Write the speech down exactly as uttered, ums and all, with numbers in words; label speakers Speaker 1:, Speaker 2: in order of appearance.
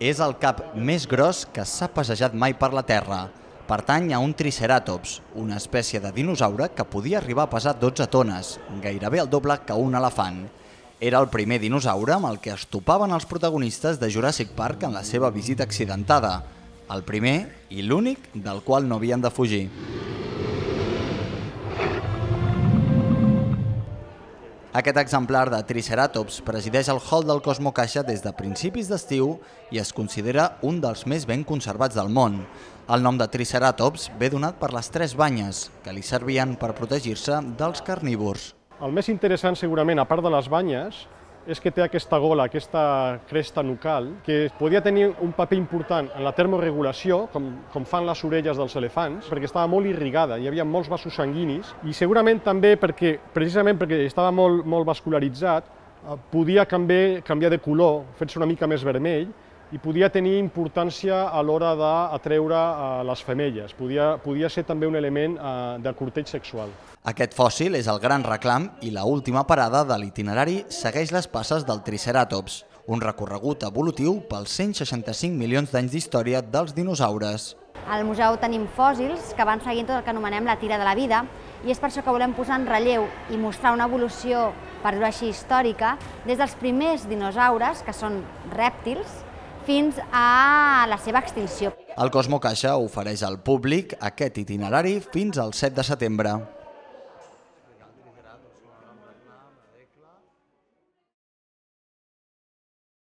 Speaker 1: És el cap més gros que s'ha passejat mai per la Terra. Pertany a un triceratops, una espècie de dinosaure que podia arribar a pesar dotze tones, gairebé el doble que un elefant. Era el primer dinosaure amb el que es topaven els protagonistes de Jurassic Park en la seva visita accidentada. El primer i l'únic del qual no havien de fugir. Aquest exemplar de Triceratops presideix el hall del Cosmo Caixa des de principis d'estiu i es considera un dels més ben conservats del món. El nom de Triceratops ve donat per les tres banyes, que li servien per protegir-se dels carnívors.
Speaker 2: El més interessant, segurament, a part de les banyes, és que té aquesta gola, aquesta cresta nucal, que podia tenir un paper important en la termoregulació, com, com fan les orelles dels elefants, perquè estava molt irrigada, hi havia molts vasos sanguinis, i segurament també perquè, precisament perquè estava molt, molt vascularitzat, podia canviar, canviar de color, fer-se una mica més vermell, i podia tenir importància a l'hora d'atreure les femelles. Podia, podia ser també un element de corteig sexual.
Speaker 1: Aquest fòssil és el gran reclam i la última parada de l'itinerari segueix les passes del Triceratops, un recorregut evolutiu pels cent seixanta-cinc milions d'anys d'història dels dinosaures.
Speaker 3: Al museu tenim fòssils que van seguint tot el que anomenem la tira de la vida i és per això que volem posar en relleu i mostrar una evolució, per dir-ho així, històrica, des dels primers dinosaures, que són rèptils, fins a la seva extinció.
Speaker 1: El Cosmo Caixa ofereix al públic aquest itinerari fins al set de setembre.